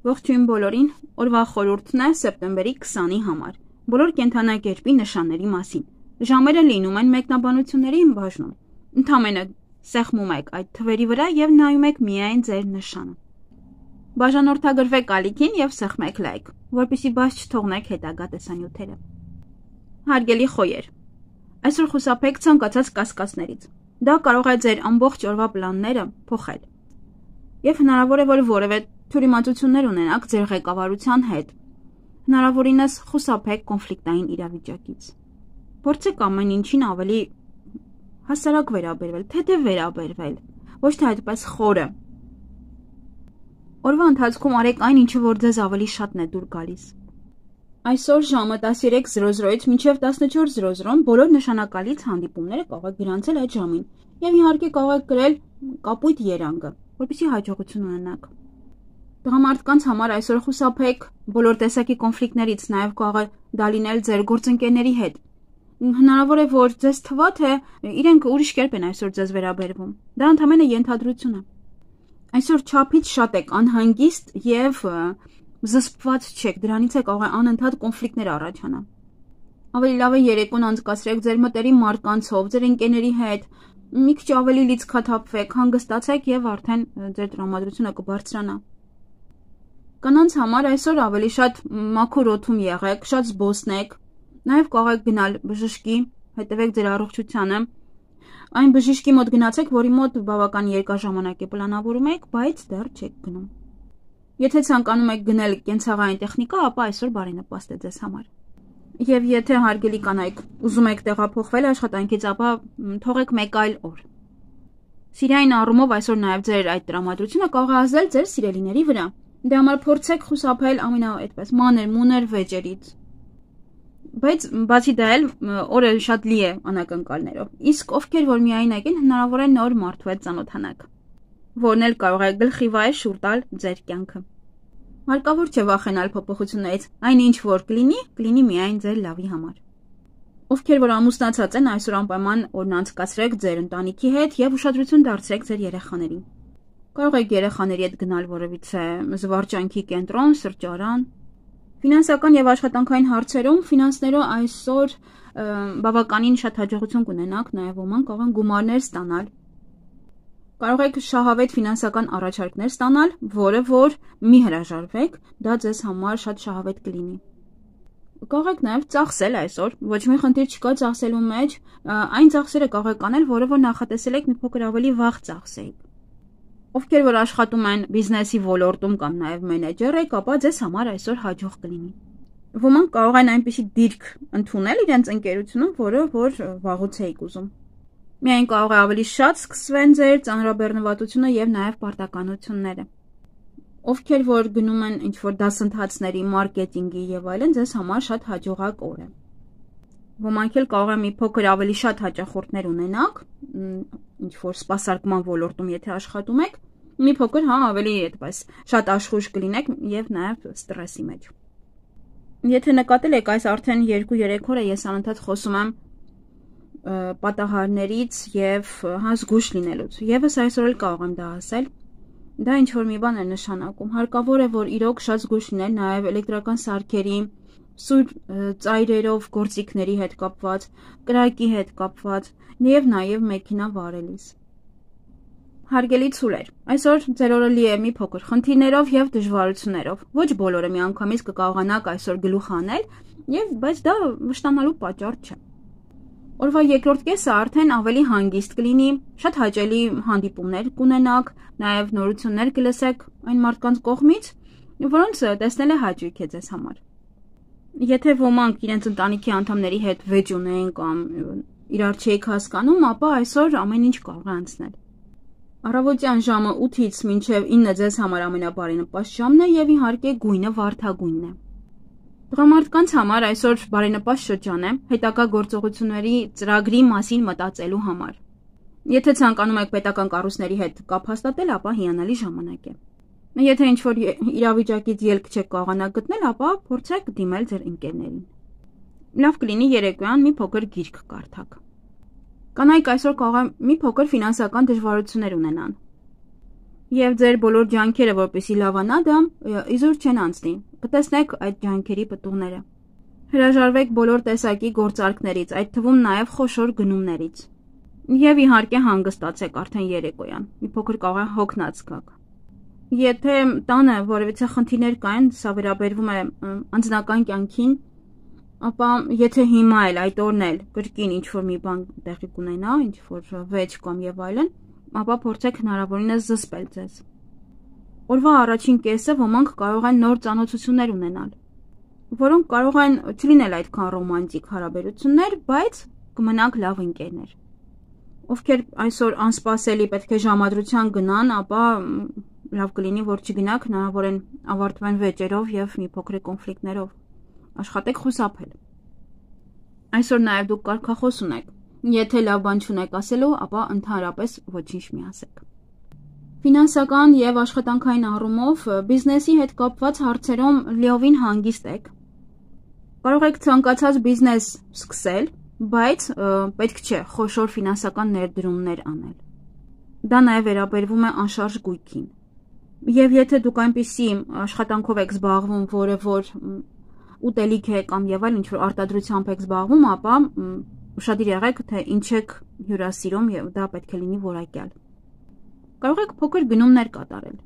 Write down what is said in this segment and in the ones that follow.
Ողջույն բոլորին, օրվա խորհուրդն է սեպտեմբերի 20-ի համար, բոլոր կենդանակերպի նշանների մասին, ժամերը լինում են մեկնաբանությունների բաժնում, ընդամենը սեղմում եք այդ թվերի վրա և նայում եք միայն ձեր նշանը։ Բաժանորդագրվեք ալիքին և սեղմեք լայք, որպեսզի բաց չթողնեք հետագա տեսանյութերը։ Հարգելի խոյեր, այսօր խուսափեք ցանկացած կասկածներից, դա կարող է ձեր ամբողջ օրվա պլանները փոխել։ Եվ հնարավոր է, որ որևէ թյուրիմացություններ ունենաք ձեր ղեկավարության հետ, հնարավորինս խուսափեք կոնֆլիկտային իրավիճակից։ Փորձեք ամեն ինչին ավելի հասարակ վերաբերվել, թեթև վերաբերվել, ոչ թե այդպես խորը։ Օրվա ընթացքում արեք այն, ինչը որ ձեզ ավելի շատն է դուր գալիս։ Այսօր ժամը 13:00-ից մինչև 14:00 բոլոր նշանակալից հանդիպումները կարող եք գրանցել այդ ժամին և իհարկե կարող եք գրել կապույտ երանգը, որպեսզի հաջողություն ունենաք։ Տղամարդկանց համար այսօր խուսափեք բոլոր տեսակի կոնֆլիկտներից, նաև կարող է դա լինել ձեր գործընկերների հետ։ Հնարավոր է, որ ձեզ թվա, թե իրենք ուրիշ կերպ են այսօր ձեզ վերաբերվում։ Դա ընդամենը ենթադրություն է։ Այսօր չափից շատ եք անհանգիստ և զսպված չեք, դրանից է կարող է անընդհատ կոնֆլիկտներ առաջանալ։ Ավելի լավ է երեկոն անցկացրեք ձեր մտերիմ մարդկանցով, ձեր ընկերների հետ, մի քիչ ավելի լիցքաթափվեք, հանգստացեք և արդեն ձեր տրամադրությունը կբարձրանա։ Կանանց համար այսօր ավելի շատ մաքուր օդում եղեք, շատ զբոսնեք, նաև կարող եք գնալ բժշկի, հետևեք ձեր առողջությանը, այն բժշկի մոտ գնացեք, որի մոտ բավական երկար ժամանակ է պլանավորում եք, բայց դեռ չեք գնում։ Եթե ցանկանում եք գնել կենցաղային տեխնիկա, ապա այսօր բարենպաստ է ձեզ համար։ Եվ եթե հարգելի կանայք ուզում եք տեղափոխվել աշխատանքից, ապա թողեք մեկ այլ օր։ Սիրային առումով այսօր նաև ձեր այդ տրամադրությունը կարող է ազդել ձեր սիրելիների վրա։ Դրա համար փորձեք խուսափել այդպես մանր-մունր վեճերից։ Բայց բացի դա էլ օրը շատ լի է անակնկալներով։ Իսկ ովքեր որ միայնակ են, հնարավոր է նոր մարդու հետ ծանոթանաք, որն էլ կարող է գլխի վայր շուռ տալ ձեր կյանքը։ Հարկավոր չէ վախենալ փոփոխություններից, այն ինչ որ կլինի միայն ձեր լավի համար։ Ովքեր որ ամուսնացած են, այսօր անպայման օրն անցկացրեք ձեր ընտանիքի հետ և ուշադրություն դարձրեք ձեր երեխաներին։ Կարող եք երեխաների հետ գնալ որևիցե զվարճանքի կենտրոն, սրճարան։ Ֆինանսական և աշխատանքային հարցերում ֆինանսներով այսօր բավականին շատ հաջողություն կունենաք, նաև ոմանք կարող են գումարներ ստանալ։ Կարող եք շահավետ ֆինանսական առաջարկներ ստանալ, որը որ մի հրաժարվեք, դա ձեզ համար շատ շահավետ կլինի։ Կարող եք նաև ծախսել այսօր, ոչ մի խնդիր չկա ծախսելու մեջ, այն ծախսերը կարող եք անել, որը որ նախատեսել եք մի փոքր ավելի վաղ ծախսեիք։ Ովքեր որ աշխատում են բիզնեսի ոլորտում կամ նաև մենեջեր եք, ապա ձեզ համար այսօր հաջող կլինի։ Ոմանք կարող են այնպիսի դիրք ընդունել իրենց ընկերությունում, որը որ վաղուց էիք ուզում։ Միայն կարող է ավելի շատ սկսվեն ձեր ծանրաբեռնվածությունը և նաև պարտականությունները։ Ովքեր որ գնում են ինչ-որ դասընթացների, մարքեթինգի և այլն, ձեզ համար շատ հաջողակ օր է։ Ոմանք էլ կարող է մի փոքր ավելի շատ հաճախորդներ ունենաք, ինչ-որ սպասարկման ոլորտում եթե աշխատում եք, մի փոքր ավելի այդպես շատ աշխույժ կլինեք և նաև ստրեսի մեջ։ Եթե նկատել եք, այս արդեն 2-3 օր է ես անընդհատ խոսում եմ պատահարներից և զգույշ լինելուց, ևս այսօր էլ կարող եմ դա ասել, դա ինչ-որ մի բան է նշանակում, հարկավոր է, որ իրոք շատ զգույշ լինել նաև էլեկտրական սարքերի, սուր ծայրերով գործիքների հետ կապված, կրակի հետ կապված և նաև մեքենա վարելիս։ Հարգելի ցուլեր, այսօր ձեր օրը լի է մի փոքր խնդիրներով և դժվարություններով, ոչ բոլորը միանգամից կկարողանաք այսօր գլուխ հանել, բայց դա վշտանալու պատճառ չէ։ Օրվա երկրորդ կեսը արդեն ավելի հանգիստ կլինի, շատ հաճելի հանդիպումներ կունենաք, նաև նորություններ կլսեք այն մարդկանց կողմից, որոնց տեսնելը հաճույք է ձեզ համար։ Եթե ոմանք իրենց ընտանիքի անդամների հետ վեճ ունեն կամ իրար չեք հասկանում, ապա այսօր ամեն ինչ կարող է անցնել։ Առավոտյան ժամը 8-ից մինչև 9 ձեզ համար ամենաբարենպաստ ժամն է և իհարկե գույնը վարդագույնն է։ Տղամարդկանց համար այսօր բարենպաստ շրջան է հետագա գործողությունների ծրագրի մասին մտածելու համար։ Եթե ցանկանում եք պետական կառույցների հետ կապ հաստատել, ապա հիանալի ժամանակ է։ Եթե ինչ-որ իրավիճակից ելք չեք կարողանա գտնել, ապա փորձեք դիմել ձեր ընկերներին։ Լավ կլինի երեկոյան մի փոքր գիրք կարդաք։ Կանայք այսօր կարող են մի փոքր ֆինանսական դժվարություններ ունենան։ Եվ ձեր բոլոր ջանքերը, որպեսզի լավանա դա, իզուր չեն անցնի։ Կտեսնեք այդ ջանքերի պտուղները։ Հրաժարվեք բոլոր տեսակի գործարքներից, այդ թվում նաև խոշոր գնումներից։ Եվ իհարկե հանգստացեք արդեն երեկոյան։ Մի փոքր կարող է հոգնած գաք։ Եթե տանը որևիցե խնդիրներ կային, սա վերաբերվում է անձնական կյանքին, ապա եթե հիմա էլ այդ օրն էլ կրկին ինչ-որ մի բան տեղի կունենա, ինչ-որ վեճ կամ եւ այլն, ապա փորձեք հնարավորինս զսպել ձեզ։ Օրվա առաջին կեսը ոմանք կարող են նոր ծանոթություններ ունենալ, որոնք կարող են չլինել այդքան ռոմանտիկ հարաբերություններ, բայց կմնանք լավ ընկերներ։ Ովքեր այսօր անսպասելի պետք է ժամադրության գնան, ապա լավ կլինի, որ չգնաք, հնարավոր են ավարտվեն վեճերով եւ մի փոքր կոնֆլիկտներով։ Աշխատեք խուսափել։ Այսօր նաև դուք կարգախոս ունեք։ Եթե լավ բան չունեք ասելու, ապա ընդհանրապես ոչինչ մի ասեք։ Ֆինանսական եւ աշխատանքային առումով բիզնեսի հետ կապված հարցերում լիովին հանգիստ եք։ Կարող եք ցանկացած բիզնես սկսել, բայց պետք չէ խոշոր ֆինանսական ներդրումներ անել։ Դա նաև վերաբերվում է անշարժ գույքին։ Եվ եթե դուք այնպիսի աշխատանքով եք զբաղվում, որը որ ուտելիք է կամ եւ այլ ինչ-որ արտադրությամբ եք զբաղվում, ապա ուշադիր եղեք, թե ինչ եք հյուրասիրում եւ դա պետք է լինի որակյալ։ Կարող եք փոքր գնումներ կատարել։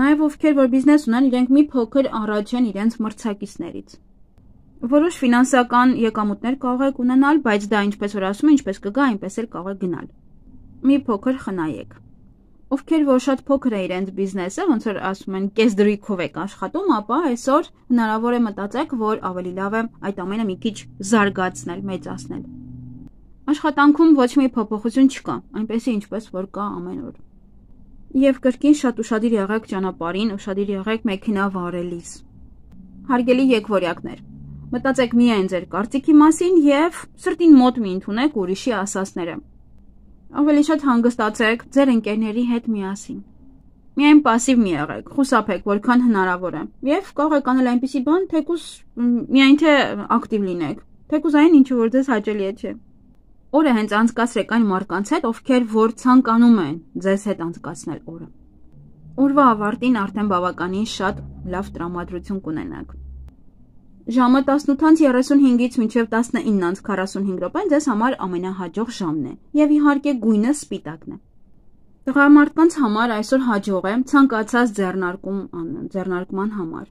Նաեւ ովքեր որ բիզնես ունեն, իրենք մի փոքր առաջ են իրենց մրցակիցներից։ Որոշ ֆինանսական եկամուտներ կարող եք ունենալ, բայց դա ինչպես որ ասում են, ինչպես կգա, այնպես էլ կարող է գնալ։ Մի փոքր խնայեք։ Ովքեր որ շատ փոքր է իրենց բիզնեսը, ոնց որ ասում են, կես դրույքով եք աշխատում, ապա այսօր հնարավոր է մտածեք, որ ավելի լավ է այդ ամենը մի քիչ զարգացնել, մեծացնել։ Աշխատանքում ոչ մի փոփոխություն չկա, այնպեսի ինչպես որ կա ամեն օր։ Եվ կրկին շատ ուշադիր եղեք ճանապարհին, ուշադիր եղեք մեքենա վարելիս։ Հարգելի եկվորյակներ, մտածեք միայն ձեր կարծիքի մասին եւ սրտին մոտ մի ընդունեք ուրիշի ասածները։ Ավելի շատ հանգստացեք ձեր ընկերների հետ միասին։ Միայն пассив մի եղեք, խուսափեք որքան հնարավոր է։ Եվ կարող եք անել այնպիսի բան, թեկուզ միայն թե ակտիվ լինեք, թեկուզ այն ինչ որ ձեզ հաճելի է, չէ։ Օրը հենց անցկացրեք այն մարդկանց հետ, ովքեր որ ցանկանում են ձեզ հետ անցկացնել օրը։ Օրվա ավարտին արդեն բավականին շատ լավ տրամադրություն կունենաք։ Ժամը 18:35-ից մինչև 19:45 րոպեն ձեզ համար ամենահաջող ժամն է, եւ իհարկե գույնը սպիտակն է։ Տղամարդկանց համար այսօր հաջող է ցանկացած ձեռնարկման համար,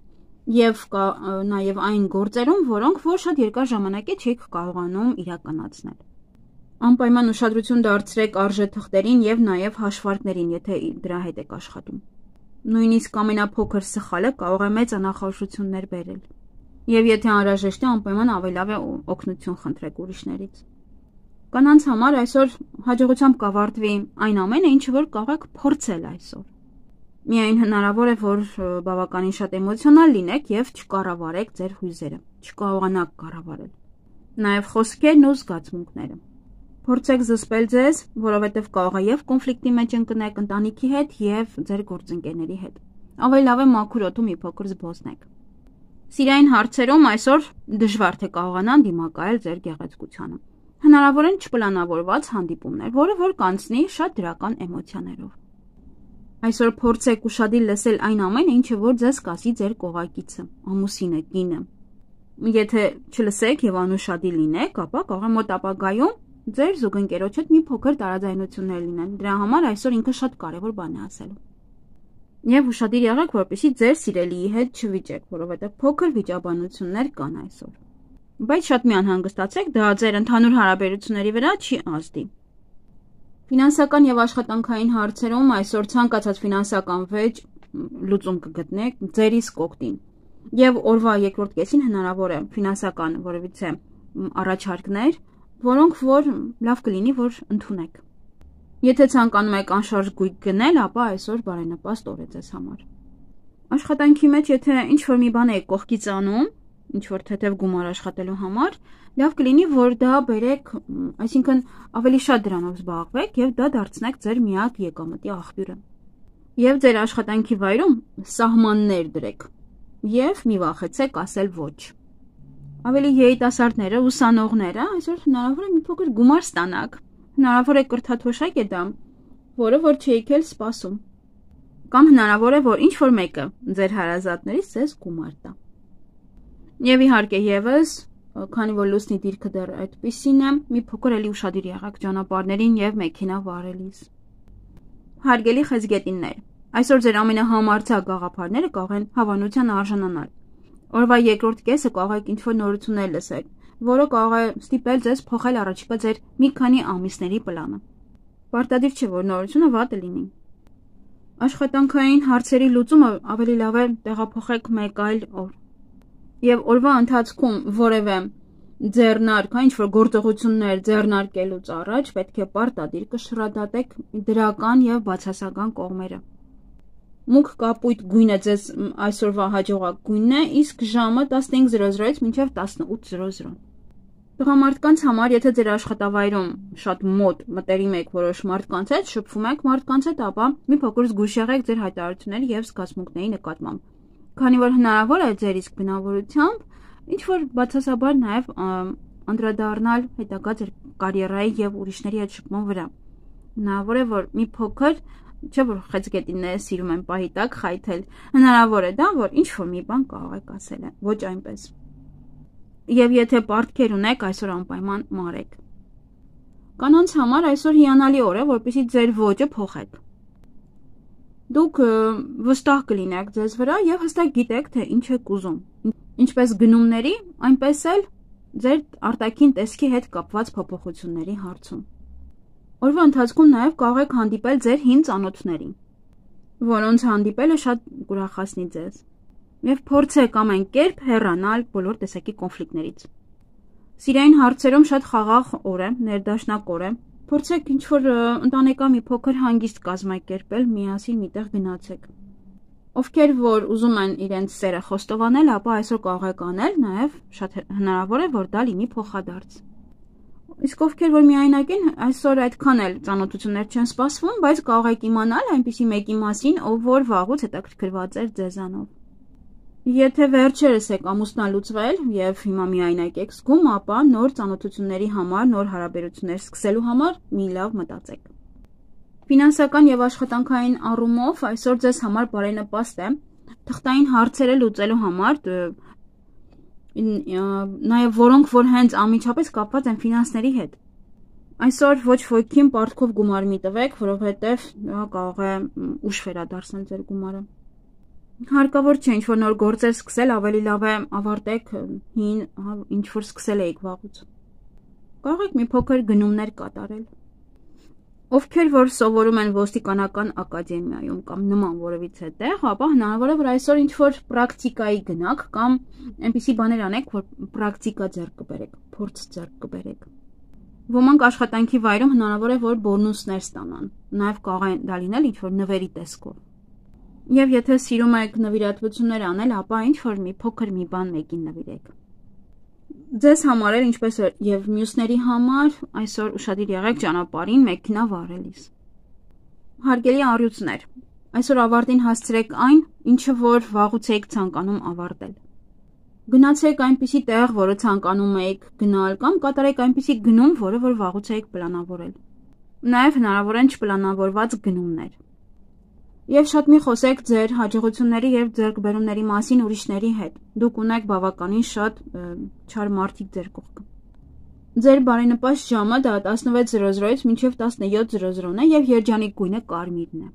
եւ կա նաեւ այն գործերում, որոնք որ շատ երկար ժամանակ է չեք կարողանում իրականացնել։ Անպայման ուշադրություն դարձրեք արժեթղթերին եւ նաեւ հաշվարկներին, եթե դրա հետ եք աշխատում։ Նույնիսկ ամենափոքր սխալը կարող է մեծ անախորժություններ բերել։ Եվ եթե անհրաժեշտ է, անպայման ավելի լավ է օգնություն խնդրեք ուրիշներից։ Կանանց համար այսօր հաջողությամբ կավարտվի այն ամենը, ինչը որ կարող եք փորձել այսօր։ Միայն հնարավոր է, որ բավականին շատ էմոցիոնալ լինեք եւ չկառավարեք ձեր հույզերը, չկարողանաք կառավարել։ Նաեւ խոսքերն ու զգացմունքները։ Փորձեք զսպել ձեզ, որովհետեւ կարող է եւ կոնֆլիկտի մեջ ընկնեք ընտանիքի հետ եւ ձեր գործընկերների հետ։ Ավելի լավ է մաքուր օդում մի փոքր զբոսնեք։ Սիրային հարցերում այսօր դժվար թե կարողանան դիմակայել ձեր գեղեցկությանը։ Հնարավոր են չպլանավորված հանդիպումներ, որը որ կանցնի շատ դրական էմոցիաներով։ Այսօր փորձեք ուշադիր լսել այն ամենը, ինչը որ ձեզ կասի ձեր կողակիցը, ամուսինը, կինը։ Եթե չլսեք եւ անուշադիր լինեք, ապա կարող է մոտ ապագայում ձեր զուգընկերոջ հետ մի փոքր տարաձայնություններ լինեն։ Դրա համար այսօր ինքը շատ կարեւոր բան է ասելու։ Եվ ուշադիր եղեք, որպեսզի ձեր սիրելիի հետ չվիճեք, որովհետև փոքր վիճաբանություններ կան այսօր։ Բայց շատ մի անհանգստացեք, դա ձեր ընդհանուր հարաբերությունների վրա չի ազդի։ Ֆինանսական եւ աշխատանքային հարցերում այսօր ցանկացած ֆինանսական վեճ լուծում կգտնեք ձեր իսկ օգտին։ Եվ օրվա երկրորդ կեսին հնարավոր է ֆինանսական որևիցե առաջարկներ, որոնք որ լավ կլինի, որ ընդունեք։ Եթե ցանկանում եք անշարժ գույք գնել, ապա այսօր բարենպաստ օր է ձեզ համար։ Աշխատանքի մեջ եթե ինչ-որ մի բան եք կողքից անում, ինչ-որ թեթև գումար աշխատելու համար, լավ կլինի, որ դա բերեք, այսինքն ավելի շատ դրանով զբաղվեք եւ դա դարձնեք ձեր միակ եկամտի աղբյուրը։ Եվ ձեր աշխատանքի վայրում սահմաններ դրեք եւ մի վախեցեք ասել ոչ։ Ավելի երիտասարդները, ուսանողները այսօր հնարավոր է մի փոքր գումար ստանաք։ Հնարավոր է կրթաթոշակ է դա, որը որ չէիք էլ սպասում։ Կամ հնարավոր է, որ ինչ-որ մեկը ձեր հարազատներից ձեզ գումար տա։ Եվ իհարկե ևս, քանի որ լուսնի դիրքը դեռ այդպիսին է, մի փոքր էլի ուշադիր եղեք ճանապարհներին եւ մեքենա վարելիս։ Հարգելի խեցգետիններ, այսօր ձեր ամենահամարձակ գաղափարները կարող են հավանության արժանանալ։ Օրվա երկրորդ կեսը կարող եք ինչ-որ նորություններ լսել, որը կարող է ստիպել ձեզ փոխել առաջիկա ձեր մի քանի ամիսների պլանը։ Պարտադիր չէ, որ նորությունը վատը լինի։ Աշխատանքային հարցերի լուծումը ավելի լավ է տեղափոխեք մեկ այլ օր։ Եվ օրվա ընթացքում որևէ ձեռնարկ, ինչ-որ գործողություններ ձեռնարկելուց առաջ պետք է պարտադիր կշռադատեք դրական եւ բացասական կողմերը։ Մուգ կապույտ գույնը ձեզ այսօրվա հաջողակ գույնն է, իսկ ժամը 15:00-ից մինչև 18:00։ Տղամարդկանց համար, եթե ձեր աշխատավայրում շատ մոտ մտերիմ եք որոշ մարդկանց հետ, շփվում եք մարդկանց հետ, ապա մի փոքր զգույշ եղեք ձեր հայտարարությունների եւ զգացմունքների նկատմամբ։ Քանի որ հնարավոր է ձեր իսկ բնավորությամբ ինչ-որ բացասաբար նաեւ անդրադառնալ հետագա ձեր կարիերայի եւ ուրիշների հետ շփման վրա։ Հնարավոր է, որ մի փոքր, չէ՞ որ խեցգետինները սիրում են պահի տակ խայթել, հնարավոր է դա, որ ինչ-որ մի բան կարող եք ասել, ոչ այնպես։ Եվ եթե պարտքեր ունեք, այսօր անպայման մարեք։ Կանանց համար այսօր հիանալի օր է, որպեսզի ձեր ոճը փոխեք։ Դուք վստահ կլինեք ձեզ վրա եւ հստակ գիտեք, թե ինչ եք ուզում։ Ինչպես գնումների, այնպես էլ ձեր արտաքին տեսքի հետ կապված փոփոխությունների հարցում։ Օրվա ընթացքում նաեւ կարող եք հանդիպել ձեր հին ծանոթներին, որոնց հանդիպելը շատ կուրախացնի ձեզ։ Եվ փորձեք ամեն կերպ հեռանալ բոլոր տեսակի կոնֆլիկտներից։ Սիրային հարցերում շատ խաղաղ օր է, ներդաշնակ օր է։ Փորձեք ինչ-որ ընտանեկան մի փոքր հանգիստ կազմակերպել, միասին միտեղ գնացեք։ Ովքեր որ ուզում են իրենց սերը խոստովանել, ապա այսօր կարող եք անել, նաև շատ հնարավոր է, որ դա լինի փոխադարձ։ Իսկ ովքեր որ միայնակ են, այսօր այդքան էլ ծանոթություններ չեն սպասվում, բայց կարող եք իմանալ այնպիսի մեկի մասին, ով որ վաղուց հետաքրքրված էր ձեզանով։ Եթե վերջերս եք ամուսնալուծվել եւ հիմա միայնակ եք զգում, ապա նոր ծանոթությունների համար, նոր հարաբերություններ սկսելու համար մի լավ մտածեք։ Ֆինանսական եւ աշխատանքային առումով այսօր ձեզ համար բարենպաստ է թղթային հարցերը լուծելու համար, նաեւ որոնք որ հենց անմիջապես կապված են ֆինանսների հետ։ Այսօր ոչ ոքին պարտքով գումար մի տվեք, որովհետեւ դա կարող է ուշ վերադարձնել ձեր գումարը։ Հարկավոր չէ ինչ-որ նոր գործեր սկսել, ավելի լավ է ավարտեք հին ինչ-որ սկսել եք վաղուց։ Կարող եք մի փոքր գնումներ կատարել։ Ովքեր որ սովորում են ոստիկանական ակադեմիայում կամ նման որևիցե տեղ, ապա հնարավոր է որ այսօր ինչ-որ պրակտիկայի գնաք կամ այնպիսի բաներ անեք, որ պրակտիկա ձեռք կբերեք, փորձ ձեռք կբերեք։ Ոմանք աշխատանքի վայրում հնարավոր է որ բոնուսներ ստանան, նաև կարող է դա լինել ինչ-որ նվերի տեսքով։ Եվ եթե սիրում եք նվիրատվություններ անել, ապա ինչ-որ մի փոքր մի բան մեկին նվիրեք։ Ձեզ համար էլ ինչպես եւ մյուսների համար այսօր ուշադիր եղեք ճանապարհին մեքենա վարելիս։ Հարգելի առյուծներ, այսօր ավարտին հասցրեք այն, ինչը որ վաղուց եք ցանկանում ավարտել։ Գնացեք այնպիսի տեղ, որը ցանկանում եք գնալ, կամ կատարեք այնպիսի գնում, որը որ վաղուց եք պլանավորել։ Նաեւ հնարավոր են չպլանավորված գնումներ։ Եվ շատ մի խոսեք ձեր հաջողությունների եւ ձեռքբերումների մասին ուրիշների հետ։ Դուք ունեք բավականին շատ չար մարդիկ ձեր կողքը։ Ձեր բարենպաստ ժամը դա 16:00-ից մինչև 17:00 է եւ երջանիկ գույնը կարմիրն է։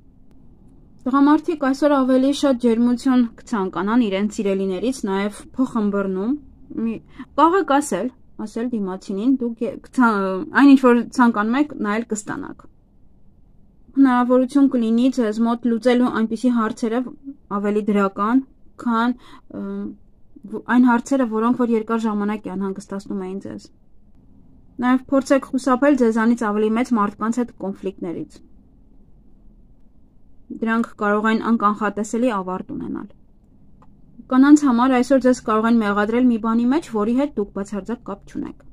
Տղամարդիկ այսօր ավելի շատ ջերմություն կցանկանան իրենց սիրելիներից, նաեւ փոխըմբռնում։ Կարող եք ասել դիմացինին, դուք այն ինչ որ ցանկանում եք, նայել կստանաք։ Հնարավորություն կլինի ձեզ մոտ լուծելու այնպիսի հարցերը ավելի դրական, քան այն հարցերը, որոնք որ երկար ժամանակ անհանգստացնում էին ձեզ։ Նաև փորձեք խուսափել ձեզանից ավելի մեծ մարդկանց հետ կոնֆլիկտներից։ Դրանք կարող են անկանխատեսելի ավարտ ունենալ։ Կանանց համար այսօր ձեզ կարող են մեղադրել մի բանի մեջ, որի հետ դուք բացարձակ կապ չունեք։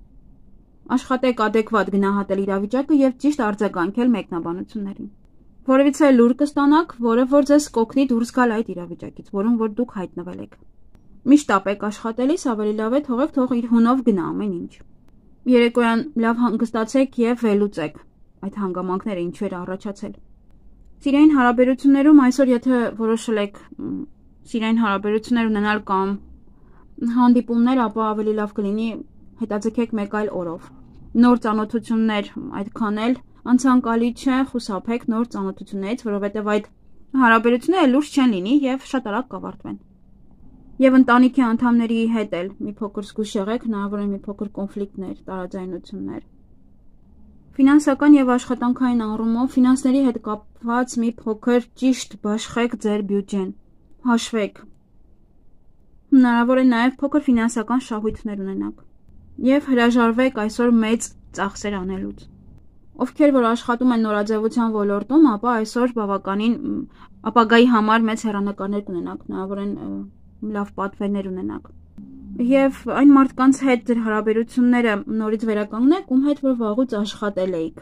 Աշխատեք adekvat գնահատել իրավիճակը եւ ճիշտ արձագանքել մեկնաբանություններին։ Որևիցե լուր կստանաք, որը որ ձեզ կօգնի դուրս գալ այդ իրավիճակից, որում որ դուք հայտնվել եք։ Միշտ ապեք աշխատելիս ավելի լավ է թող իր հունով գնա ամեն ինչ։ Երեկոյան լավ հանգստացեք եւ վերլուծեք այդ հանգամանքները ինչու էր առաջացել։ Սիրային հարաբերություններում այսօր եթե որոշել եք սիրային հարաբերություններ ունենալ կամ հանդիպումներ, ապա ավելի լավ կլինի հետաձգեք մեկ այլ օրով։ Նոր ծանոթություններ այդքան էլ անցանկալի չէ, խուսափեք նոր ծանոթություններից, որովհետև այդ հարաբերությունները լուրջ չեն լինի եւ շատ արագ կավարտվեն։ Եվ ընտանիքի անդամների հետ էլ մի փոքր զգուշ եղեք, հնարավոր է մի փոքր կոնֆլիկտներ, տարաձայնություններ։ Ֆինանսական եւ աշխատանքային առումով ֆինանսների հետ կապված մի փոքր ճիշտ բաշխեք ձեր բյուջեն։ Հաշվեք։ Հնարավոր է նաեւ փոքր ֆինանսական շահույթներ ունենաք։ Եվ հրաժարվեք այսօր մեծ ծախսեր անելուց։ Ովքեր որ աշխատում են նորաձևության ոլորտում, ապա այսօր բավականին ապագայի համար մեծ հեռանկարներ կունենաք, հնարավոր են լավ պատվերներ ունենաք։ Եվ այն մարդկանց հետ ձեր հարաբերությունները նորից վերականգնեք, ում հետ որ վաղուց աշխատել էիք։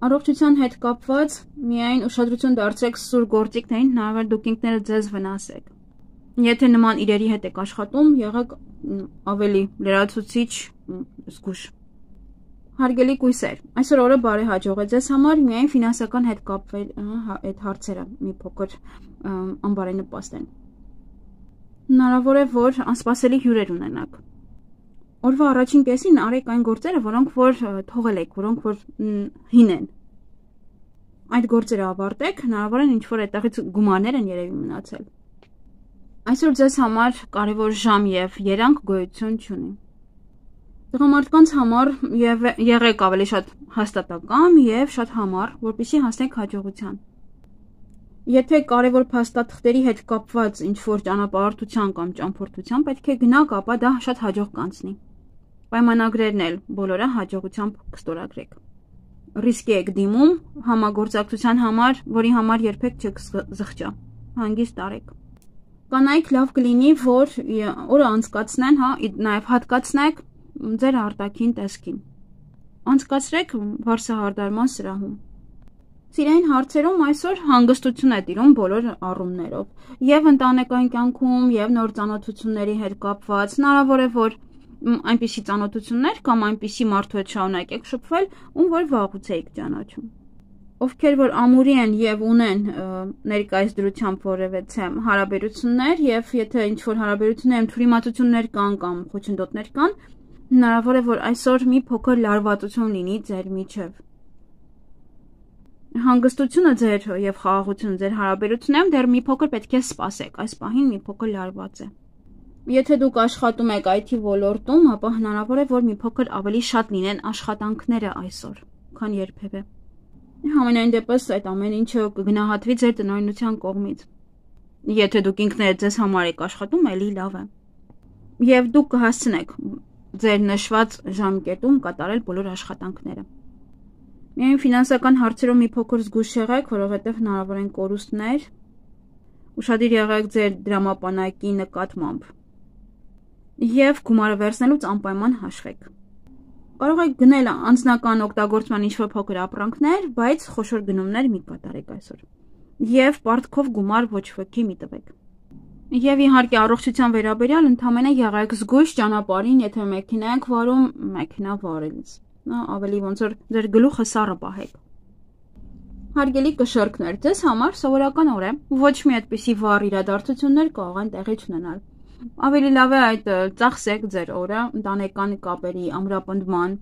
Առողջության հետ կապված միայն ուշադրություն դարձրեք սուր գործիքներին, հնարավոր դուք ինքներդ ձեզ վնասեք։ Եթե նման իրերի հետ եք աշխատում, եղեք ավելի լրացուցիչ զգուշ։ Հարգելի կույսեր, այսօր օրը բարեհաջող է ձեզ համար, միայն ֆինանսական հետ կապվել այդ հարցերը մի փոքր անբարենպաստ են։ Հնարավոր է, որ անսպասելի հյուրեր ունենաք։ Օրվա առաջին կեսին արեք այն գործերը, որոնք որ թողել եք, որոնք որ հին են։ Այդ գործերը ավարտեք, հնարավոր է ինչ-որ այդտեղից գումարներ են երևի մնացել։ Այսօր ձեզ համար կարևոր ժամ եւ երանգ գոյություն չունի։ Տղամարդկանց համար եղեք ավելի շատ հաստատակամ եւ շատ համառ, որպեսզի հասնեք հաջողության։ Եթե կարևոր փաստաթղթերի հետ կապված ինչ-որ ճանապարհորդության կամ ճամփորդության պետք է գնաք, ապա դա շատ հաջող կանցնի։ Պայմանագրերն էլ բոլորը հաջողությամբ կստորագրեք։ Ռիսկի եք դիմում համագործակցության համար, որի համար երբեք չեք զղջա։ Հանգիստ արեք։ Կանայք լավ կլինի, որ օրը անցկացնեն, նաև հատկացնեք ձեր արտաքին տեսքին։ Անցկացրեք վարսահարդարման սրահում։ Սիրային հարցերում այսօր հանգստություն է տիրում բոլոր առումներով։ Եվ ընտանեկան կյանքում, եւ նոր ծանոթությունների հետ կապված, հնարավոր է, որ այնպիսի ծանոթություններ կամ այնպիսի մարդու հետ շարունակեք շփվել, ում որ վաղուց եք ճանաչում։ Ովքեր որ ամուրի են եւ ունեն ներկայիս դրությամբ որևէ հարաբերություններ եւ եթե ինչ-որ հարաբերություններում թյուրիմացություններ կան կամ խոչընդոտներ կան, հնարավոր է որ այսօր մի փոքր լարվածություն լինի ձեր միջև։ Հանգստությունը ձեր եւ խաղաղությունը ձեր հարաբերություններում դեռ մի փոքր պետք է սպասեք, այս պահին մի փոքր լարված է։ Եթե դուք աշխատում եք IT ոլորտում, ապա հնարավոր է որ մի փոքր ավելի շատ լինեն աշխատանքները այսօր, քան երբևէ։ Համենայն դեպս այդ ամեն ինչը կգնահատվի ձեր տնօրինության կողմից։ Եթե դուք ինքներդ ձեզ համար եք աշխատում, էլի լավ է։ Եվ դուք կհասցնեք ձեր նշված ժամկետում կատարել բոլոր աշխատանքները։ Միայն ֆինանսական հարցերով մի փոքր զգուշ եղեք, որովհետև հնարավոր են կորուստներ։ Ուշադիր եղեք ձեր դրամապանակի նկատմամբ։ Եվ գումարը վերցնելուց անպայման հաշվեք։ Կարող եք գնել անձնական օգտագործման ինչ-որ փոքր ապրանքներ, բայց խոշոր գնումներ մի կատարեք այսօր։ Եվ պարտքով գումար ոչ ոքի մի տվեք։ Եվ իհարկե առողջության վերաբերյալ ընդամենը եղեք զգույշ ճանապարհին, եթե մեքենա եք վարում, մեքենա վարելիս։ Ավելի ոնց որ ձեր գլուխը սառը պահեք։ Հարգելի կշռքներ, ձեզ համար սովորական օր է, ոչ մի այդպիսի վառ իրադարձություններ կարող են տեղի չունենալ։ Ավելի լավ է այդ ծախսեք ձեր օրը ընտանեկան կապերի ամրապնդման,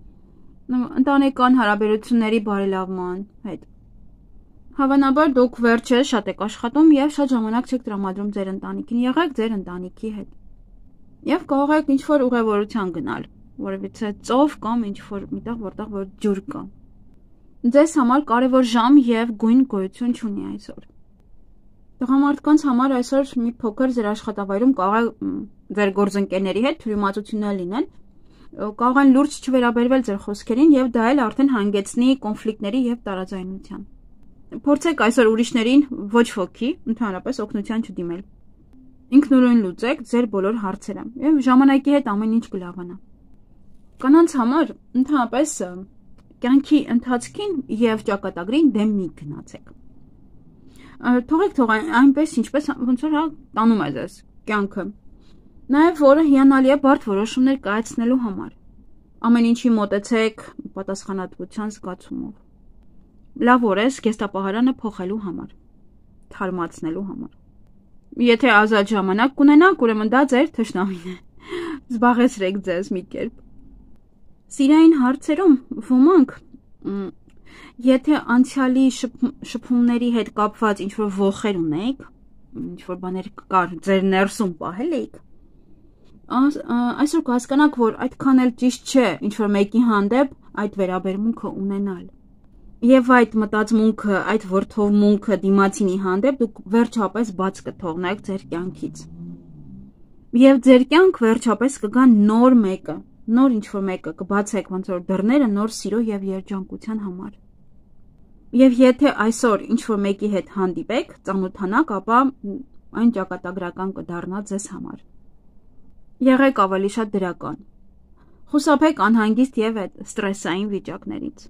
ընտանեկան հարաբերությունների բարելավման հետ։ Հավանաբար դուք վերջերս շատ եք աշխատում եւ շատ ժամանակ չեք տրամադրում ձեր ընտանիքին, եղեք ձեր ընտանիքի հետ։ Եվ կարող եք ինչ-որ ուղևորության գնալ, որովհետեւ ծով կամ ինչ-որ միտեղ որտեղ որ ջուր կա։ Ձեզ համար կարևոր ժամ եւ գույն գոյություն չունի այսօր։ Տղամարդկանց համար այսօր մի փոքր ձեր աշխատավայրում կարող է ձեր գործընկերների հետ թյուրիմացություններ լինեն, կարող են լուրջ չվերաբերվել ձեր խոսքերին եւ դա էլ արդեն հանգեցնի կոնֆլիկտների եւ տարաձայնության։ Փորձեք այսօր ուրիշներին ոչ ոքի ընդհանրապես օգնության չդիմել։ Ինքնուրույն լուծեք ձեր բոլոր հարցերը եւ ժամանակի հետ ամեն ինչ կլավանա։ Կանանց համար ընդհանրապես կյանքի ընթացքին եւ ճակատագրին դեմ մի գնացեք։ Թողեք այնպես ինչպես ոնց որ տանում է ձեզ կյանքը։ Նաեւ որը հիանալի է բարդ որոշումներ կայացնելու համար։ Ամեն ինչի մոտեցեք պատասխանատվության զգացումով։ լավ օրես կեստապահարանը փոխելու համար, թարմացնելու համար։ Եթե ազատ ժամանակ կունենաք, ուրեմն դա ձեր թշնամին է։ Զբաղեցրեք ձեզ մի կերպ։ Սիրային հարցերում ոմանք, եթե անցյալի շփումների հետ կապված ինչ-որ ոխեր ունեիք, ինչ-որ բաներ կար ձեր ներսում պահել էիք, այսօր կհասկանաք, որ այդքան էլ ճիշտ չէ ինչ-որ մեկի հանդեպ այդ վերաբերմունքը ունենալ։ Եվ այդ մտածմունքը, այդ որդովմունքը դիմացինի հանդեպ դուք վերջապես բաց կթողնեք ձեր կյանքից։ Եվ ձեր կյանք վերջապես կգա նոր մեկը, նոր ինչ-որ մեկը կբացեք ոնց որ դռները նոր սիրո եւ երջանկության համար։ Եվ եթե այսօր ինչ-որ մեկի հետ հանդիպեք, ծանոթանաք, ապա այն ճակատագրական կդառնա ձեզ համար։ Եղեք ավելի շատ դրական։ Խուսափեք անհանգիստ եւ այդ ստրեսային վիճակներից։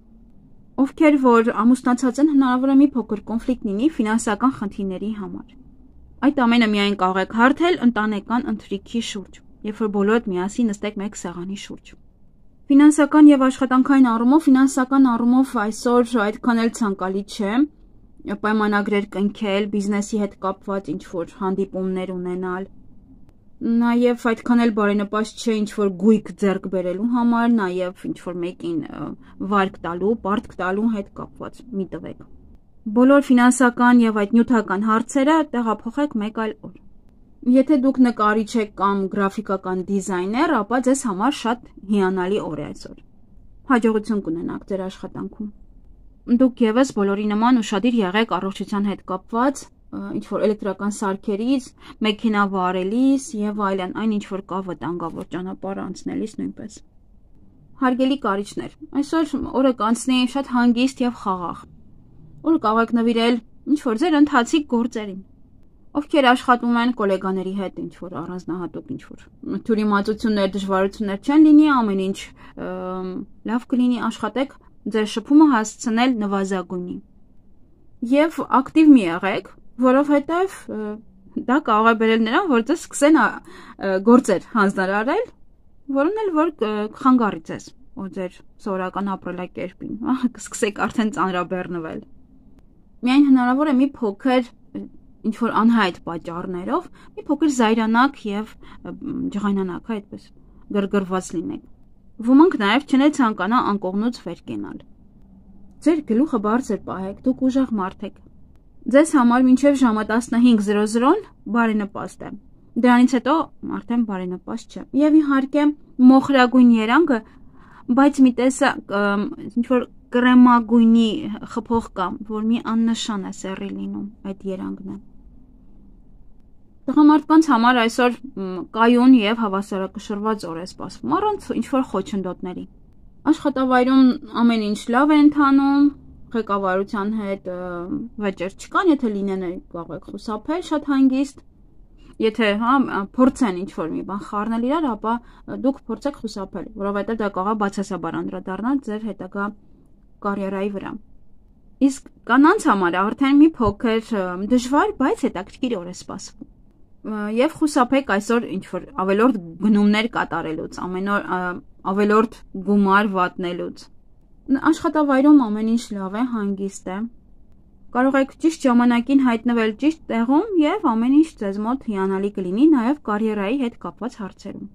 Ովքեր որ ամուսնացած են, հնարավոր է մի փոքր կոնֆլիկտ լինի ֆինանսական խնդիրների համար։ Այդ ամենը միայն կարող եք հարթել ընտանեկան ընթրիքի շուրջ, երբ որ բոլորդ միասին նստեք մեկ սեղանի շուրջ։ Ֆինանսական եւ աշխատանքային առումով այսօր այդքան էլ ցանկալի չէ պայմանագրեր կնքել, բիզնեսի հետ կապված ինչ-որ հանդիպումներ ունենալ։ Նաև այդքան էլ բարենպաստ չէ ինչ-որ գույք ձեռք բերելու համար, նաև ինչ-որ մեկին վարկ տալու, պարտք տալու հետ կապված մի տվեք։ Բոլոր ֆինանսական եւ այդ նյութական հարցերը տեղափոխեք մեկ այլ օր։ Եթե դուք նկարիչ եք կամ գրաֆիկական դիզայներ, ապա ձեզ համար շատ հիանալի օր է այսօր։ Հաջողություն կունենաք ձեր աշխատանքում։ Դուք եւս բոլորի նման ուշադիր եղեք առողջության հետ կապված, ինչ-որ էլեկտրական սարքերից, մեքենա վարելիս եւ այլն, այն ինչ-որ կա վտանգավոր ճանապարհ անցնելիս նույնպես։ Հարգելի կարիճներ, այսօր օրը կանցնի շատ հանգիստ եւ խաղաղ։ Օրը կարող եք նվիրել ինչ-որ ձեր ընթացիկ գործերին։ Ովքեր աշխատում են գոլեգաների հետ, ինչ-որ առանձնահատուկ ինչ-որ թյուրիմացություններ, դժվարություններ չեն լինի, ամեն ինչ լավ կլինի, աշխատեք ձեր շփումը հասցնել նվազագույնի։ Եվ ակտիվ մի եղեք, որովհետև դա կարող է բերել նրան, որ ձեզ սկսեն գործեր հանձնարարել, որոնց էլ որ կխանգարի ձեզ ու ձեր սովորական ապրելակերպին, կսկսեք արդեն ծանրաբեռնվել։ Միայն հնարավոր է մի փոքր ինչ-որ անհայտ պատճառներով, մի փոքր զայրանաք եւ ջղայնանաք, այդպես գրգռված լինեք։ Ոմանք նաեւ չեն ցանկանա անկողնուց վեր կենալ։ Ձեր գլուխը բարձր պահեք, դուք ուժեղ մարդ եք։ Ձեզ համար մինչև ժամը 15:00 բարենպաստ է։ Դրանից հետո արդեն բարենպաստ չէ։ Եվ իհարկե մոխրագույն երանգը, բայց մի տեսակ ինչ-որ կրեմագույնի խփող կամ, որ մի աննշան է սեռի լինում այդ երանգն է։ Տղամարդկանց համար այսօր կայուն եւ հավասարակշռված օր է սպասվում, առանց ինչ-որ խոչընդոտների։ Աշխատավայրում ամեն ինչ լավ է ընթանում, ղեկավարության հետ վեճեր չկան, եթե լինեն կարող եք խուսափել շատ հանգիստ։ Եթե փորձեն ինչ-որ մի բան խառնել իրար, ապա դուք փորձեք խուսափել, որովհետեւ դա կարող է բացասաբար անդրադառնալ ձեր հետագա կարիերայի վրա։ Իսկ կանանց համար արդեն մի փոքր դժվար, բայց հետաքրքիր օր է սպասվում։ Եվ խուսափեք այսօր ինչ-որ ավելորդ գնումներ կատարելուց, ամեն օր ավելորդ գումար վատնելուց։ Աշխատավայրում ամեն ինչ լավ է, հանգիստ է։ Կարող եք ճիշտ ժամանակին հայտնվել ճիշտ տեղում եւ ամեն ինչ ձեզ մոտ հիանալի կլինի նաեւ կարիերայի հետ կապված հարցերում։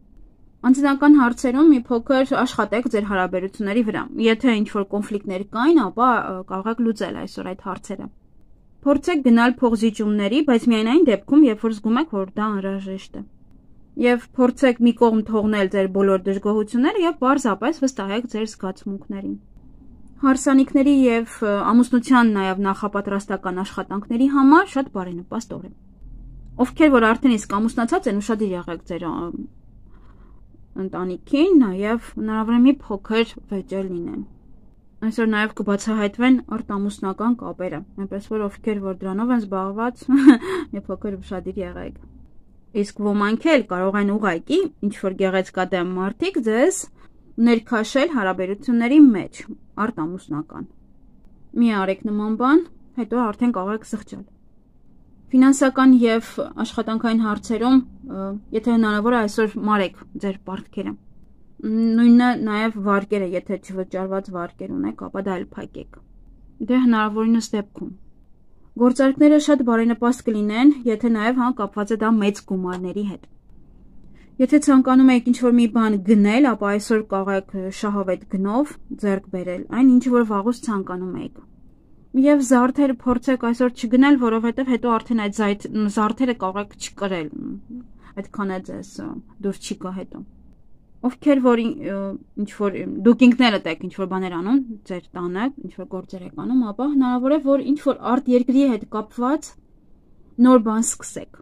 Անձնական հարցերում մի փոքր աշխատեք ձեր հարաբերությունների վրա։ Եթե ինչ-որ կոնֆլիկտներ կային, ապա կարող եք լուծել այսօր այդ հարցերը։ Փորձեք գնալ փոխզիջումների, բայց միայն այն դեպքում, երբ որ զգում եք, որ դա անհրաժեշտ է։ Եվ փորձեք մի կողմ թողնել ձեր բոլոր դժգոհությունները եւ պարզապես վստահեք ձեր զգացմունքներին։ Հարսանիքների եւ ամուսնության նաեւ նախապատրաստական աշխատանքների համար շատ բարենպաստ օր է։ Ովքեր որ արդեն իսկ ամուսնացած են, ուշադիր եղեք ձեր ընտանիքին, նաեւ հնարավոր է մի փոքր վեճեր լինեն։ Այսօր նաեւ կբացահայտվեն արտամուսնական կապերը, այնպես որ ովքեր որ դրանով են զբաղված, մի փոքր ուշադիր եղեք։ Իսկ ոմանք էլ կարող են ուղղակի ինչ-որ գեղեցկադեմ մարդիկ ձեզ ներքաշել հարաբերությունների մեջ, արտամուսնական։ Մի արեք նման բան, հետո արդեն կարող եք զղջալ։ Ֆինանսական եւ աշխատանքային հարցերում, եթե հնարավոր է այսօր մարեք ձեր պարտքերը։ Նույնը նաեւ վարկերը, եթե չվճարված վարկեր ունեք, ապա դա էլ փակեք։ Դե հնարավորինս դեպքում։ Գործարքները շատ բարենպաստ կլինեն, եթե նաև կապված է դա մեծ գումարների հետ։ Եթե ցանկանում եք ինչ-որ մի բան գնել, ապա այսօր կարող եք շահավետ գնով ձեռք բերել այն, ինչ որ վաղուց ցանկանում եք։ Եվ զարդերը փորձեք այսօր չգնել, որովհետև հետո արդեն այդ զարդերը կարող եք չկրել։ Այդքան է ձեզ դուր չի գա հետո։ Ովքեր որ ինչ-որ դուք ինքներդ եք ինչ-որ բաներ անում, ձեր տանը, ինչ-որ գործեր եք անում, ապա հնարավոր է, որ ինչ-որ արտերկրի հետ կապված նոր բան սկսեք։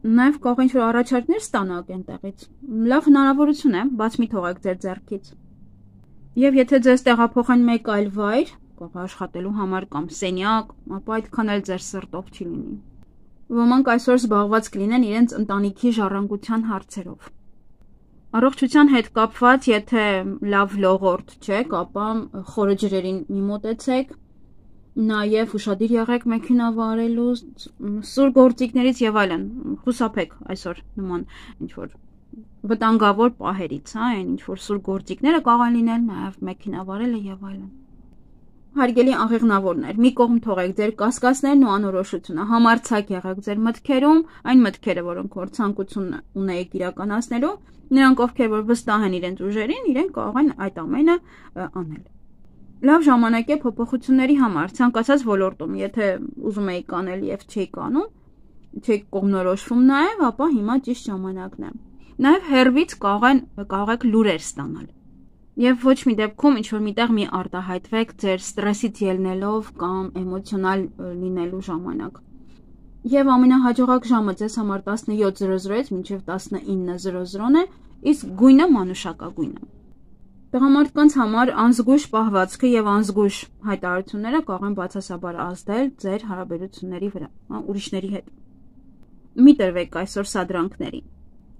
Նաև կարող ինչ-որ առաջարկներ ստանաք այնտեղից։ Լավ հնարավորություն է, բաց մի թողեք ձեր ձեռքից։ Եվ եթե ձեզ տեղափոխեն մեկ այլ վայր, կարող աշխատելու համար կամ սենյակ, ապա այդքան էլ ձեր սրտով չի լինի։ Ոմանք այսօր զբաղված կլինեն իրենց ընտանիքի ժառանգության հարցերով։ Առողջության հետ կապված, եթե լավ լողորդ չեք, ապա խորը ջրերին մի մոտեցեք, նաև ուշադիր եղեք մեքենա վարելու, սուր գործիքներից եւ այլն, խուսափեք այսօր նման ինչ-որ վտանգավոր պահերից, այն ինչ-որ սուր գործիքները կարող են լինել, նաև մեքենա վարելը եւ այլն։ Հարգելի աղեղնավորներ, մի կողմ թողեք ձեր կասկածներն ու անորոշությունը, համարձակ եղեք ձեր մտքերում, այն մտքերը, որոնք որ ցանկություն ունեիք իրականացնելու, նրանք ովքեր որ վստահ են իրենց ուժերին, իրենք կարող են այդ ամենը անել։ Լավ ժամանակ է փոփոխությունների համար, ցանկացած ոլորտում, եթե ուզում եք անել եւ չեք անում, չեք կողմնորոշվում նաեւ, ապա հիմա ճիշտ ժամանակն է։ Նաեւ հերվից կարող եք լուրեր ստանալ։ Եվ ոչ մի դեպքում ինչ-որ միտեղ մի արտահայտվեք ձեր ստրեսից ելնելով կամ էմոցիոնալ լինելու ժամանակ։ Եվ ամենահաջողակ ժամը ձեզ համար 17:00-ից մինչև 19:00 է, իսկ գույնը մանուշակագույնը։ Տղամարդկանց համար անզգույշ պահվածքը եւ անզգույշ հայտարարությունները կարող են բացասաբար ազդել ձեր հարաբերությունների վրա, ուրիշների հետ։ Մի տրվեք այսօր սադրանքների։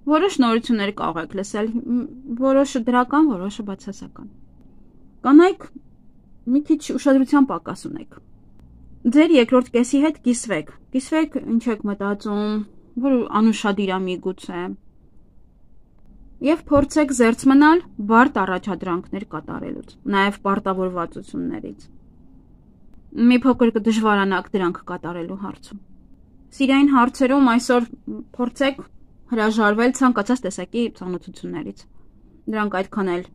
Որոշ նորություններ կարող եք լսել, որոշը դրական, որոշը բացասական։ Կանայք մի քիչ ուշադրության պակաս ունեք։ Ձեր երկրորդ կեսի հետ կիսվեք։ Կիսվեք, ինչ եք մտածում, որ անուշադիր է միգուցե։ Եվ փորձեք զերծ մնալ բարդ առաջադրանքներ կատարելուց, նաև պարտավորվածություններից։ Մի փոքր կդժվարանաք դրանք կատարելու հարցում։ Սիրային հարցերում այսօր փորձեք հրաժարվել ցանկացած տեսակի ծանոթություններից։ Դրանք այդքան էլ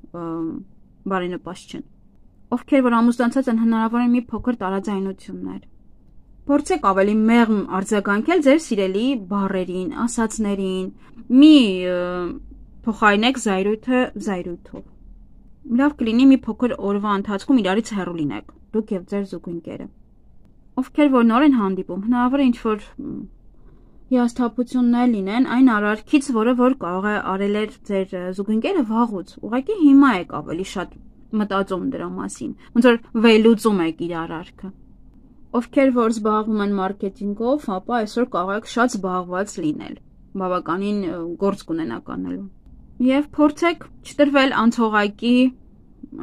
բարենպաստ չեն։ Ովքեր որ ամուսնացած են, հնարավոր է մի փոքր տարաձայնություններ։ Փորձեք ավելի մեղմ արձագանքել ձեր սիրելի բառերին, ասածներին։ Մի փոխարինեք զայրույթը զայրույթով։ Լավ կլինի մի փոքր օրվա ընթացքում իրարից հեռու լինեք, դուք եւ ձեր զուգընկերը։ Ովքեր որ նոր են հանդիպում, հնարավոր է ինչ-որ հիասթափություններ լինեն այն արարքից, որը որ կարող է արել էր ձեր զուգընկերը վաղուց։ Ուղղակի հիմա եք ավելի շատ մտածում դրա մասին, ոնց որ վերլուծում եք իր արարքը։ Ովքեր որ զբաղվում են մարքեթինգով, ապա այսօր կարող եք շատ զբաղված լինել, բավականին գործ կունենաք անելու։ Եվ փորձեք չտրվել անցողակի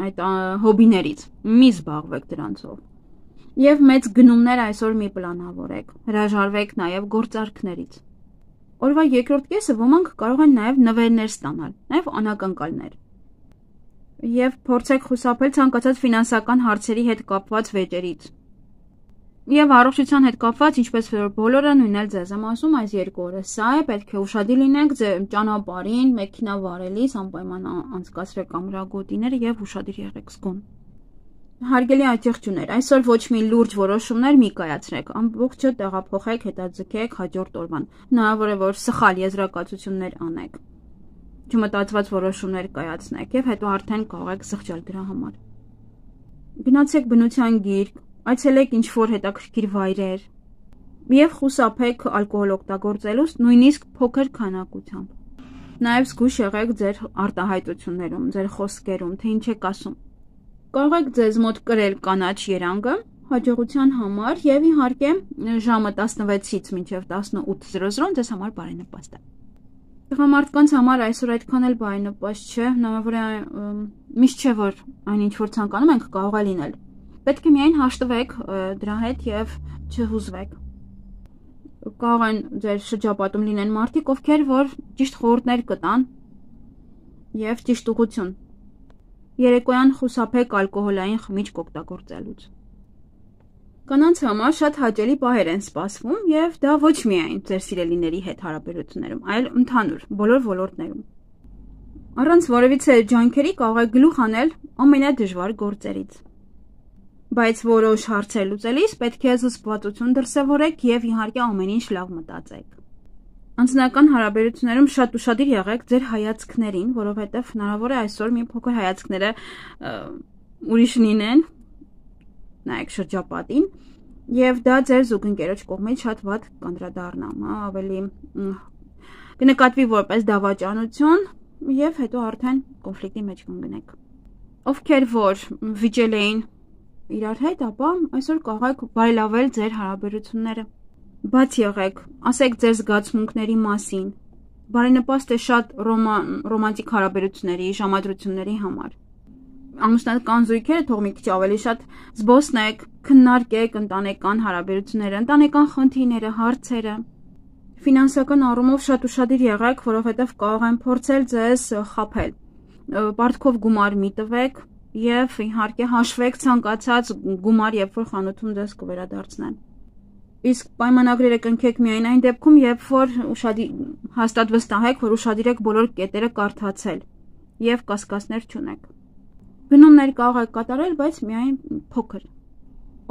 այդ հոբիներից, մի զբաղվեք դրանցով։ Եվ մեծ գնումներ այսօր մի պլանավորեք, հրաժարվեք նաև գործարքներից։ Օրվա երկրորդ կեսը ոմանք կարող են նաև նվերներ ստանալ, նաև անակնկալներ։ Եվ փորձեք խուսափել ցանկացած ֆինանսական հարցերի հետ կապված վեճերից։ Եվ առողջության հետ կապված, ինչպես որ բոլորը նույնն էլ ձեզ եմ ասում, այս երկու օրը սա է, պետք է ուշադիր լինեք ձեր ճանապարհին, մեքենա վարելիս, անպայման անցկացրեք ամրագոտիները եւ ուշադիր եղեք զգոն։ Հարգելի աջակցություններ, այսօր ոչ մի լուրջ որոշումներ մի կայացրեք, ամբողջը տեղափոխեք, հետաձգեք հաջորդ օրվան։ Հնարավոր է, որ սխալ եզրակացություններ անեք, չմտածված որոշումներ կայացնեք եւ հետո արդեն կարող եք զղջալ դրա համար։ Գնացեք բնության գիրք, այցելեք ինչ-որ հետաքրքիր վայրեր եւ խուսափեք ալկոհոլ օգտագործելուց նույնիսկ փոքր քանակությամբ։ Նաեւ զգույշ եղեք ձեր արտահայտություններում, ձեր խոսքերում, թե ինչ եք ասում։ Կարող եք ձեզ մոտ կրել կանաչ երանգը հաջողության համար եւ իհարկե ժամը 16-ից մինչեւ 18:00 ձեզ համար բարենպաստ է։ Տղամարդկանց համար այսօր այդքան էլ բարենպաստ չէ, հնարավոր է միշտ չէ որ այն ինչ որ ցանկանում ենք կարող է լինել։ Պետք է միայն հաշտվեք դրա հետ եւ չհուզվեք։ Կարող են ձեր շրջապատում լինեն մարդիկ, ովքեր որ ճիշտ խորհուրդներ կտան եւ ճիշտ ուղղություն։ Երեկոյան խուսափեք ալկոհոլային խմիչք օգտագործելուց։ Կանանց համար շատ հաճելի պահեր են սպասվում եւ դա ոչ միայն ձեր սիրելիների հետ հարաբերություններում, այլ ընդհանուր բոլոր ոլորտներում։ Առանց որևիցե ջանքերի կարող եք գլուխ անել ամենադժվար գործերից։ Բայց որոշ հարցեր լուծելիս պետք է զսպվածություն դրսևորեք եւ իհարկե ամեն ինչ լավ մտածեք։ Անձնական հարաբերություններում շատ ուշադիր եղեք ձեր հայացքներին, որովհետեւ հնարավոր է այսօր մի փոքր հայացքները ուրիշ լինեն, նայեք շրջապատին, եւ դա ձեր զուգընկերոջ կողմից շատ վատ կանդրադառնա, ավելի կնկատվի որպես դավաճանություն եւ հետո արդեն կոնֆլիկտի մեջ կընկնեք։ Ովքեր որ վիճել էին իրար հետ, ապա այսօր կարող եք բարելավել ձեր հարաբերությունները։ Բաց եղեք, ասեք ձեր զգացմունքների մասին։ Բարենպաստ է շատ ռոմանտիկ հարաբերությունների, ժամադրությունների համար։ Ամուսնական զույգերը թող մի քիչ ավելի շատ զբոսնեք, քննարկեք ընտանեկան հարաբերությունները, ընտանեկան խնդիրները, հարցերը։ Ֆինանսական առումով շատ ուշադիր եղեք, որովհետև կարող են փորձել ձեզ խաբել։ Պարտքով գումար մի տվեք եւ իհարկե հաշվեք ցանկացած գումար, երբ որ խանութում ձեզ կվերադարձնեն։ Իսկ պայմանագրերը կնքեք միայն այն դեպքում, երբ որ հաստատ վստահեք, որ ուշադիր եք բոլոր կետերը կարդացել եւ կասկածներ չունեք։ Գնումներ կարող եք կատարել, բայց միայն փոքր։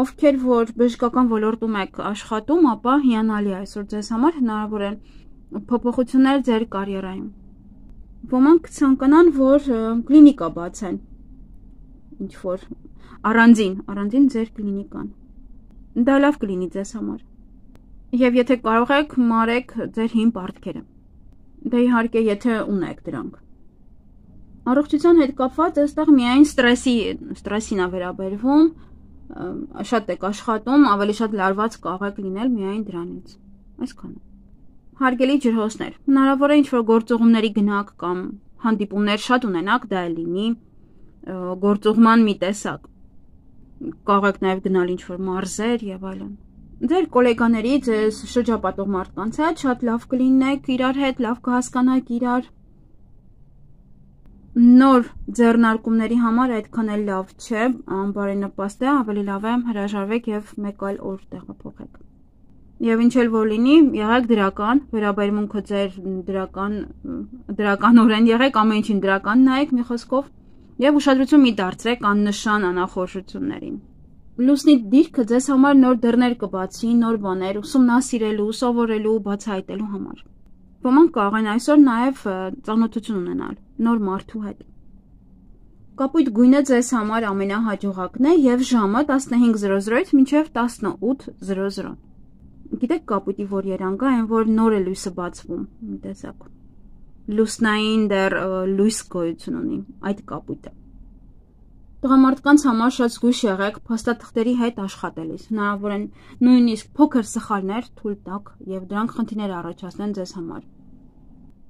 Ովքեր որ բժշկական ոլորտում եք աշխատում, ապա հիանալի է այսօր ձեզ համար հնարավոր են փոփոխություններ ձեր կարիերայում։ Ոմանք ցանկանան, որ կլինիկա բացեն, ինչ որ առանձին ձեր կլինիկան։ Դա լավ կլինի ձեզ համար։ Եվ եթե կարող եք, մարեք ձեր հին պարտքերը։ Դա իհարկե եթե ունեք դրանք։ Առողջության հետ կապված այստեղ միայն ստրեսին է վերաբերվում, շատ եք աշխատում, ավելի շատ լարված կարող եք լինել միայն դրանից։ Այսքանը։ Հարգելի ջրհոսներ, հնարավոր է ինչ-որ գործուղումների գնաք կամ հանդիպումներ շատ ունենաք, դա լինի գործուղման մի տեսակ։ Կարող եք նաև գնալ ինչ-որ մարզեր եւ այլն։ Ձեր գոլեգաների, ձեզ շրջապատող մարդկանց հետ շատ լավ կլինեք իրար հետ, լավ կհասկանաք իրար։ Նոր ձեռնարկումների համար այդքան էլ լավ չէ, անբարենպաստ է, ավելի լավ է հրաժարվեք եւ մեկ այլ օր տեղափոխեք։ Եվ ինչ էլ որ լինի, եղեք դրական, վերաբերմունքը ձեր դրականորեն եղեք, ամեն ինչին դրական նայեք մի խոսքով եւ ուշադրություն մի դարձրեք աննշան անախորժություններին։ Լուսնի դիրքը ձեզ համար նոր դռներ կբացի, նոր բաներ ուսումնասիրելու, սովորելու, բացահայտելու համար։ Ոմանք կարող են այսօր նաև ծանոթություն ունենալ նոր մարդու հետ։ Կապույտ գույնը ձեզ համար ամենահաջողակն է եւ ժամը 15:00-ից մինչեւ 18:00։ Գիտեք կապույտի որ երանգ է, այն որ նոր է լույսը բացվում, մի տեսակ։ Լուսնային դեռ լույս գոյություն ունի այդ կապույտը։ Տղամարդկանց համար շատ զգույշ եղեք փաստաթղթերի հետ աշխատելիս։ Հնարավոր են նույնիսկ փոքր սխալներ թույլ տաք եւ դրանք խնդիրներ առաջացնեն ձեզ համար։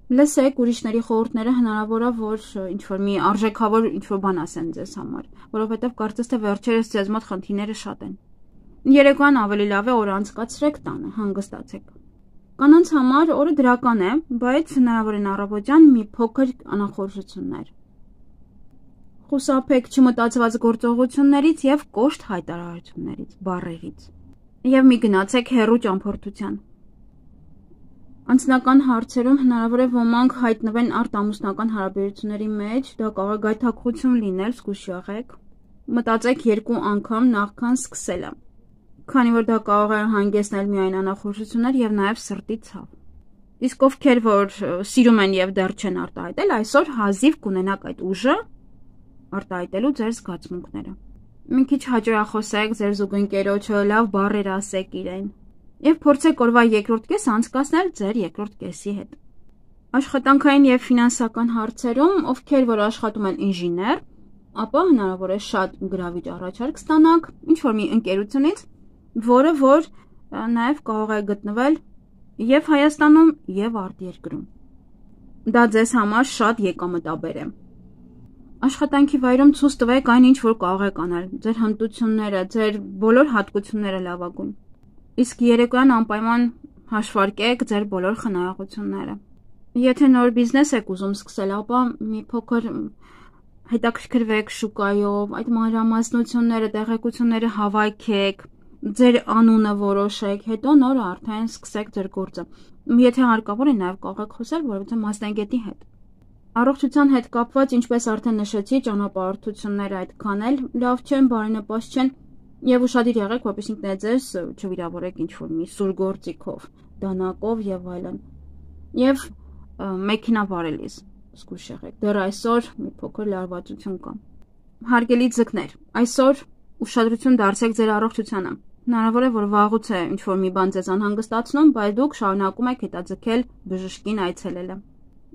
Լսեք ուրիշների խորհուրդները, հնարավոր է որ ինչ-որ մի արժեքավոր ինչ-որ բան ասեն ձեզ համար, որովհետեւ կարծես թե վերջերս ձեզ մոտ խնդիրները շատ են։ Երեկոյան ավելի լավ է օր անցկացրեք տանը, հանգստացեք։ Կանանց համար օրը դրական է, բայց հնարավոր են առավոտյան մի փոքր անախորժություններ։ Խուսափեք չմտածված գործողություններից եւ կոշտ հայտարարություններից, բառերից։ Եվ մի գնացեք հեռու ճամփորդության։ Անձնական հարցերում հնարավոր է ոմանք հայտնվեն արտամուսնական հարաբերությունների մեջ, դա կարող է գայթակղություն լինել, զգույշ եղեք։ Մտածեք 2 անգամ նախքան սկսելը, քանի որ դա կարող է հանգեցնել միայն անախորժություններ եւ նաեւ սրտի ցավ։ Իսկ ովքեր որ սիրում են եւ դեռ չեն արտահայտել, այսօր հազիվ կունենաք այդ ուժը արտահայտելու ձեր զգացմունքները։ Մի քիչ հաճոյախոսեք ձեր զուգընկերոջը, լավ բառեր ասեք իրեն եւ փորձեք օրվա երկրորդ կեսը անցկացնել ձեր երկրորդ կեսի հետ։ Աշխատանքային եւ ֆինանսական հարցերում, ովքեր որ աշխատում են ինժեներ, ապա հնարավոր է շատ գրավիչ առաջարկ ստանաք ինչ որ մի ընկերությունից, որը որ նաեւ կարող է գտնվել եւ Հայաստանում եւ արտերկրում։ Դա ձեզ համար շատ եկամտաբեր է։ Աշխատանքի վայրում ցույց տվեք այն ինչ որ կարող եք անել, ձեր հմտությունները, ձեր բոլոր հատկությունները լավագույն։ Իսկ երեկոյան անպայման հաշվարկեք ձեր բոլոր խնայողությունները։ Եթե նոր բիզնես եք ուզում սկսել, ապա մի փոքր հետաքրքրվեք շուկայով, այդ մանրամասնությունները, տեղեկությունները հավաքեք, ձեր անունը որոշեք, հետո նոր արդեն սկսեք ձեր գործը։ Եթե հարկավոր է, նաև կարող եք խոսել որևէ մասնագետի հետ։ Առողջության հետ կապված, ինչպես արդեն նշեցի, ճանապարհորդությունները այդքան էլ լավ չեն, բարենպաստ չեն, եւ ուշադիր եղեք, որպեսզի ինքներդ ձեզ չվիրավորեք ինչ-որ մի սուր գործիքով, դանակով եւ այլն։ Եվ մեքենա վարելիս զգույշ եղեք։ Դեռ այսօր մի փոքր լարվածություն կա։ Հարգելի ձկներ, այսօր ուշադրություն դարձրեք ձեր առողջությանը։ Հնարավոր է, որ վաղուց է ինչ-որ մի բան ձեզ անհանգստացնում, բայց դուք շարունակում եք հետաձգել բժշկին այցելելը։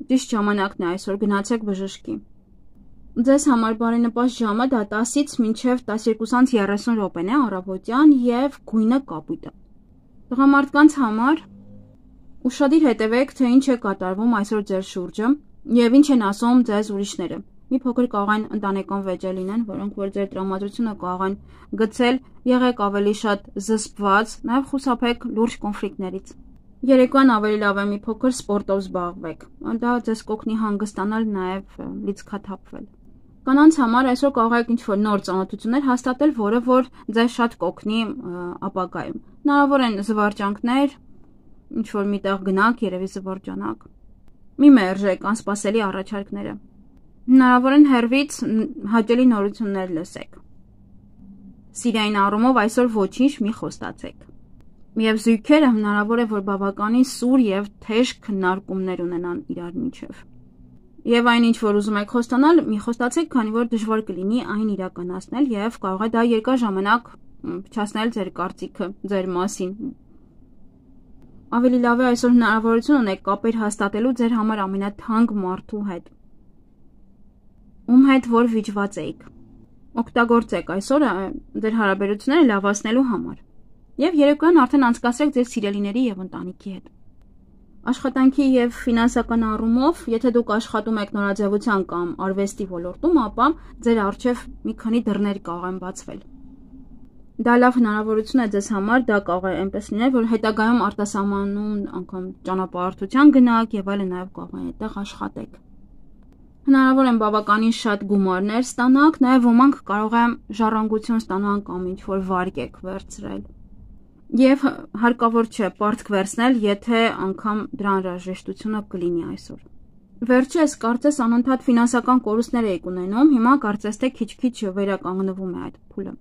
Ճիշտ ժամանակն է այսօր, գնացեք բժշկի։ Ձեզ համար բարենպաստ ժամը դա 10-ից մինչև 12:30 րոպեն է առավոտյան եւ գույնը կապույտը։ Տղամարդկանց համար ուշադիր հետևեք, թե ինչ է կատարվում այսօր ձեր շուրջը եւ ինչ են ասում ձեզ ուրիշները։ Մի փոքր կարող են ընտանեկան վեճեր լինեն, որոնք որ ձեր տրամադրությունը կարող են գցել, եղեք ավելի շատ զսպված, նաև խուսափեք լուրջ կոնֆլիկտներից։ Երեկոյան ավելի լավ է մի փոքր սպորտով զբաղվեք։ Դա ձեզ կօգնի հանգստանալ, նաև լիցքաթափվել։ Կանանց համար այսօր կարող եք ինչ-որ նոր ծանոթություններ հաստատել, որը որ ձեզ շատ կօգնի ապագայում։ Հնարավոր են զվարճանքներ, ինչ-որ միտեղ գնաք, երևի զվարճանակ։ Մի մերժեք անսպասելի առաջարկները։ Հնարավոր են հեռվից հաճելի նորություններ լսեք։ Սիրային առումով այսօր ոչինչ մի խոստացեք։ Եվ զույգերը հնարավոր է, որ բավականին սուր եւ թեժ քննարկումներ ունենան իրար միջև։ Եվ այն ինչ որ ուզում եք խոստանալ, մի խոստացեք, քանի որ դժվար կլինի այն իրականացնել եւ կարող է դա երկար ժամանակ փչացնել ձեր կարծիքը ձեր մասին։ Ավելի լավ է այսօր հնարավորություն ունեք կապեր հաստատելու ձեր համար ամենաթանկ մարդու հետ, ում հետ որ վիճված էիք։ Օգտագործեք այսօրը ձեր հարաբերությունները լավացնելու համար։ Եվ երեկոյան արդեն անցկացրեք ձեր սիրելիների եւ ընտանիքի հետ։ Աշխատանքի եւ ֆինանսական առումով, եթե դուք աշխատում եք նորաձևության կամ արվեստի ոլորտում, ապա ձեր առջև մի քանի դռներ կարող են բացվել։ Դա լավ հնարավորություն է ձեզ համար, դա կարող է այնպես լինել, որ հետագայում արտասահմանում անգամ ճանապարհորդության գնաք եւ այլն նաեւ կարող է այդտեղ աշխատեք։ Հնարավոր են բավականին շատ գումարներ ստանաք, նաեւ ոմանք կարող են ժառանգություն ստանան կամ ինչ-որ վարկ եք վերցրել։ Եվ հարկավոր չէ պարտք վերցնել, եթե անգամ դրա անհրաժեշտությունը կլինի այսօր։ Վերջերս կարծես անընդհատ ֆինանսական կորուստներ եք ունենում, հիմա կարծես թե քիչ-քիչ վերականգնվում է այդ փուլը։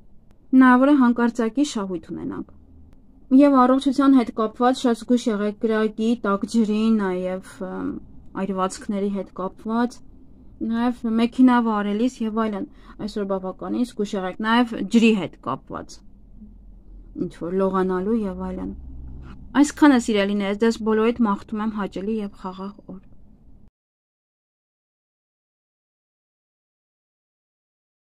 Հնարավոր է հանկարծակի շահույթ ունենաք։ Եվ առողջության հետ կապված շատ զգույշ եղեք կրակի, տաք ջրի, նաեւ այրվածքների հետ կապված, նաեւ մեքենա վարելիս եւ այլն, այսօր բավականին զգույշ եղեք, նաեւ ջրի հետ կապված, ինչ որ լողանալու եւ այլն։ Այսքանը սիրելիներս, ձեզ բոլորիդ մաղթում եմ հաճելի եւ խաղաղ օր։